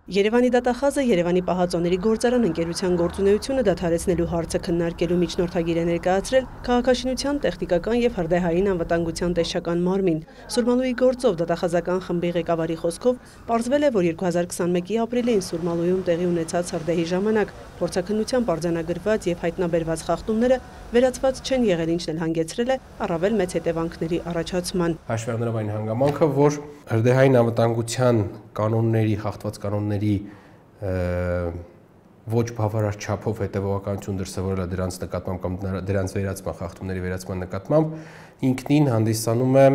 Երևանի դատախազը Երևանի պահածոների գործարան ընկերության գործունեությունը դադարեցնելու հարցը քննարկելու միջնորդագիր է ներկայացրել քաղաքաշինության, տեխնիկական և հրդեհային անվտանգության տեսչական մարմին։ Սուրմալուի գործով դատախազական խմբի ղեկավարի խոսքով պարզվել է, որ 2021-ի ապրիլին Սուրմալույում տեղի ունեցած հրդեհի ժամանակ փորձաքննությամբ արձանագրված և հայտնաբերված խախտումները վերացված չեն եղել, ինչն էլ հանգեցրել է առավել մեծ հետևանքների առաջացման։ Հաշվի առնելով այն հանգամանքը, որ հրդեհային անվտանգության կանոնների, խախտված կանոնների ոչ բավարար չափով հետևողականություն դրսևորելը դրանց նկատմամբ կամ դրանց վերացման խախտումների վերացման նկատմամբ ինքնին հանդիսանում է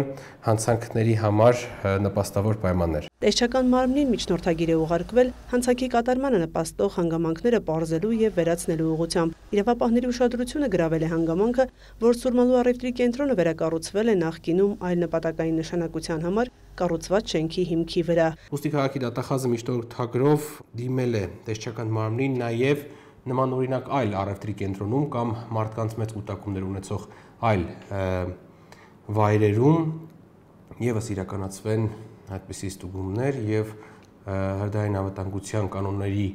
հանցանքների համար նպաստավոր պայմաններ։ Տեսչական մարմնին միջնորդագիր է ուղարկվել հանցանքի կատարմանը նպաստող հանգամանքները պարզելու և վերացնելու ուղղությամբ։ Իրավապահների ուշադրությունը գրավել է հանգամանքը, որ Սուրմալու առևտրի կենտրոնը վերակառուցվել է նախկինում այլ նպատակային նշանակության համար կառուցված շենքի հիմքի վրա։ Ուստի քաղաքի դատախազը միջնորդագրով դիմել է տեսչական մարմնին նաև նմանօրինակ այլ առևտրի կենտրոնում կամ մարդկանց մեծ կուտակումներ ունեցող այլ վայրերում ևս իրականացվեն այդպիսի ստուգումներ և հրդեհային անվտանգության կանոնների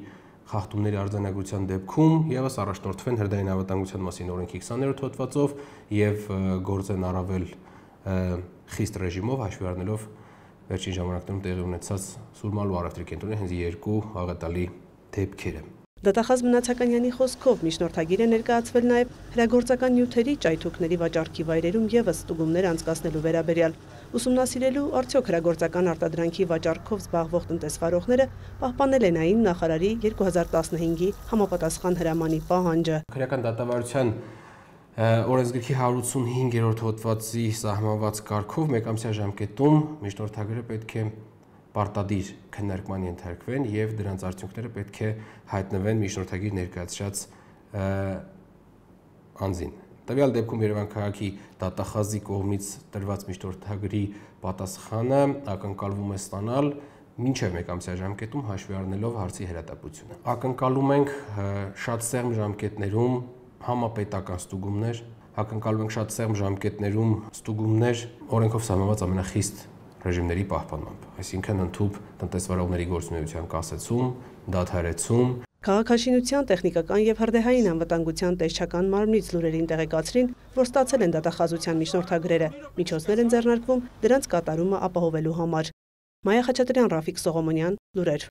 խախտումների արձանագրության դեպքում ևս առաջնորդվեն հրդեհային անվտանգության մասին օրենքի 20-րդ հոդվածով և գործեն առավել խիստ ռեժիմով, հաշվի առնելով վերջին ժամանակներում տեղի ունեցած Սուրմալու առևտրի կենտրոնի հենց երկու աղետալի դեպքերը։ Դատախազ Մնացականյանի խոսքով միջնորդագիր է ներկայացվել նաև հրագործական նյութերի ճայթուքների վաճառքի վայրերում ևս ստուգումներ անցկացնելու վերաբերյալ, ուսումնասիրելու արդյոք հրագործական արտադրանքի վաճառքով զբաղվող տնտեսվարողները պահպանել են այն նախարարի 2015-ի համապատասխան հրամանի պահանջը։ Քրեական դատավարության օրենսգրքի 185-րդ հոդվածի սահմանված կարգով մեկամսյա ժամկետում միջնորդագիրը պետք է պարտադիր քննարկման ենթարկվեն և դրանց արդյունքները պետք է հայտնվեն միջնորդագիր ներկայացրած անձին։ Տվյալ դեպքում Երևան քաղաքի դատախազի կողմից տրված միջնորդագրի պատասխանը ակնկալվում է ստանալ մինչև մեկամսյա ժամկետում, հաշվի առնելով հարցի հրատապությունը։ Ակնկալում ենք շատ սեղմ ժամկետներում համապետական ստուգումներ, ակնկալում ենք շատ սեղմ ժամկետներում ստուգումներ օրենքով սահմանված ամենախիստ ռեժիմների պահպանմամբ, այսինքն ընդհանուր տնտեսվարողների գործունեության կասեցում, դադարեցում։ Քաղաքաշինության, տեխնիկական և հրդեհային անվտանգության տեսչական մարմնից լուրերին տեղեկացրին, որ ստացել են դատախազության միջնորդագրերը, միջոցներ են ձեռնարկվում դրանց կատարումը ապահովելու համար։ Մայա Խաչատրյան, Ռաֆիկ Սողոմոնյան, լուրեր։